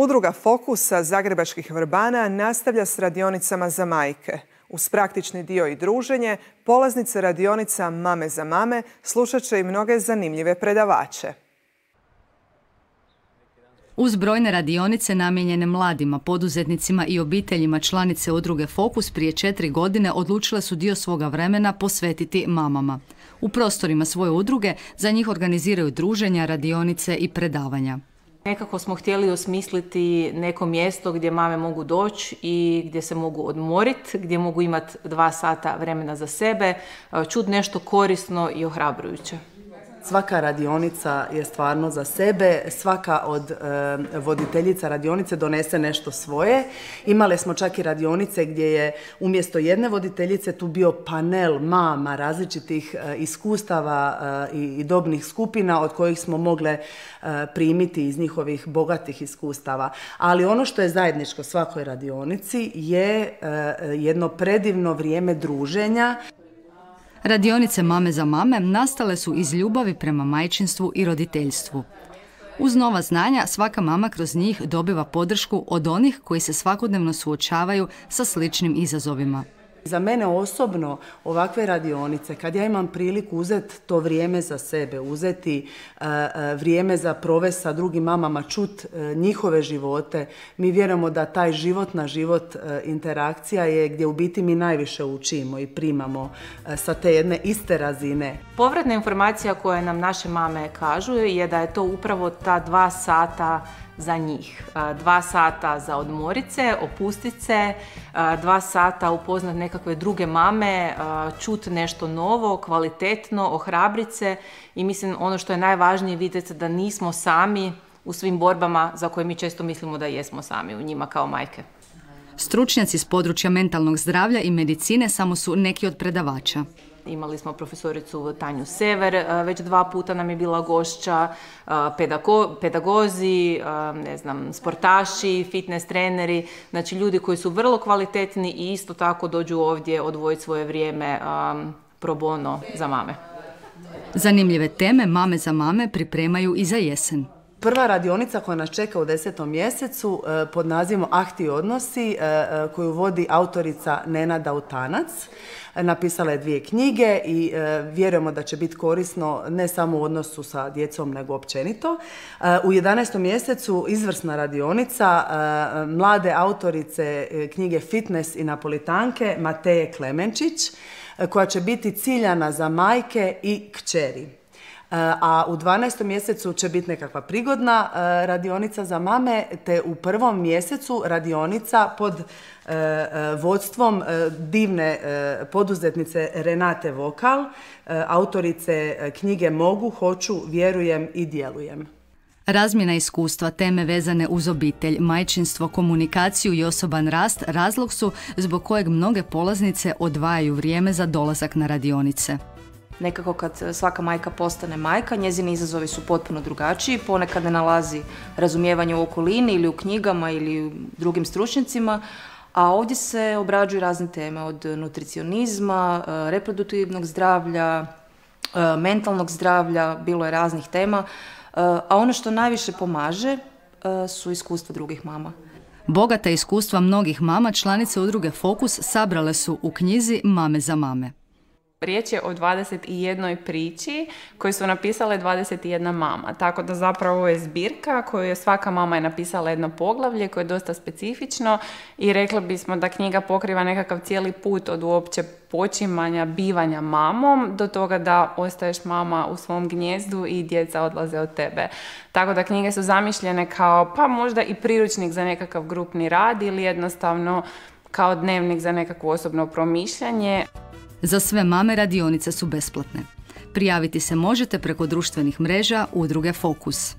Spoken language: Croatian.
Udruga Fokus sa zagrebačkih Vrbana nastavlja s radionicama za majke. Uz praktični dio i druženje, polaznice radionica Mame za mame slušat će i mnoge zanimljive predavače. Uz brojne radionice namijenjene mladima, poduzetnicima i obiteljima, članice udruge Fokus prije 4 godine odlučile su dio svoga vremena posvetiti mamama. U prostorima svoje udruge za njih organiziraju druženja, radionice i predavanja. Nekako smo htjeli osmisliti neko mjesto gdje mame mogu doći i gdje se mogu odmoriti, gdje mogu imati 2 sata vremena za sebe, čuti nešto korisno i ohrabrujuće. Svaka radionica je stvarno za sebe, svaka od voditeljica radionice donese nešto svoje. Imali smo čak i radionice gdje je umjesto jedne voditeljice tu bio panel mama različitih iskustava i dobnih skupina od kojih smo mogle primiti iz njihovih bogatih iskustava. Ali ono što je zajedničko svakoj radionici je jedno predivno vrijeme druženja. Radionice Mame za mame nastale su iz ljubavi prema majčinstvu i roditeljstvu. Uz nova znanja, svaka mama kroz njih dobiva podršku od onih koji se svakodnevno suočavaju sa sličnim izazovima. Za mene osobno ovakve radionice, kad ja imam priliku uzeti to vrijeme za sebe, uzeti vrijeme za provesti sa drugim mamama, čut njihove živote, mi vjerujemo da taj život na život interakcija je gdje u biti mi najviše učimo i primamo sa te jedne iste razine. Povratna informacija koje nam naše mame kažu je da je to upravo ta 2 sata za njih. 2 sata za odmorit se, opustit se, 2 sata upoznat nekakve druge mame, čut nešto novo, kvalitetno, ohrabrit se i mislim ono što je najvažnije vidjeti da nismo sami u svim borbama za koje mi često mislimo da jesmo sami u njima kao majke. Stručnjaci s područja mentalnog zdravlja i medicine samo su neki od predavača. Imali smo profesoricu Tanju Sever, već 2 puta nam je bila gošća, pedagozi, sportaši, fitness treneri, znači ljudi koji su vrlo kvalitetni i isto tako dođu ovdje odvojiti svoje vrijeme pro bono za mame. Zanimljive teme Mame za mame pripremaju i za jesen. Prva radionica koja nas čeka u 10. mjesecu pod nazivom Ahti odnosi, koju vodi autorica Nena Dautanac. Napisala je 2 knjige i vjerujemo da će biti korisno ne samo u odnosu sa djecom nego općenito. U 11. mjesecu izvrsna radionica mlade autorice knjige Fitness i napolitanke Mateje Klemenčić, koja će biti ciljana za majke i kćeri. A u 12. mjesecu će biti nekakva prigodna radionica za mame, te u 1. mjesecu radionica pod vodstvom divne poduzetnice Renate Vokal, autorice knjige Mogu, hoću, vjerujem i djelujem. Razmjena iskustva, teme vezane uz obitelj, majčinstvo, komunikaciju i osoban rast razlog su zbog kojeg mnoge polaznice odvajaju vrijeme za dolazak na radionice. Nekako kad svaka majka postane majka, njezini izazovi su potpuno drugačiji, ponekad ne nalazi razumijevanje u okolini ili u knjigama ili u drugim stručnjacima, a ovdje se obrađuju razne teme od nutricionizma, reproduktivnog zdravlja, mentalnog zdravlja, bilo je raznih tema, a ono što najviše pomaže su iskustva drugih mama. Bogata iskustva mnogih mama članice udruge Fokus sabrale su u knjizi Mame za mame. Riječ je o 21 priči koju su napisale 21 mama, tako da zapravo je zbirka koju je svaka mama je napisala jedno poglavlje koje je dosta specifično i rekli bismo da knjiga pokriva nekakav cijeli put od uopće počimanja, bivanja mamom do toga da ostaješ mama u svom gnijezdu i djeca odlaze od tebe. Tako da knjige su zamišljene kao pa možda i priručnik za nekakav grupni rad ili jednostavno kao dnevnik za nekakvo osobno promišljanje. Za sve mame radionice su besplatne. Prijaviti se možete preko društvenih mreža udruge Fokus.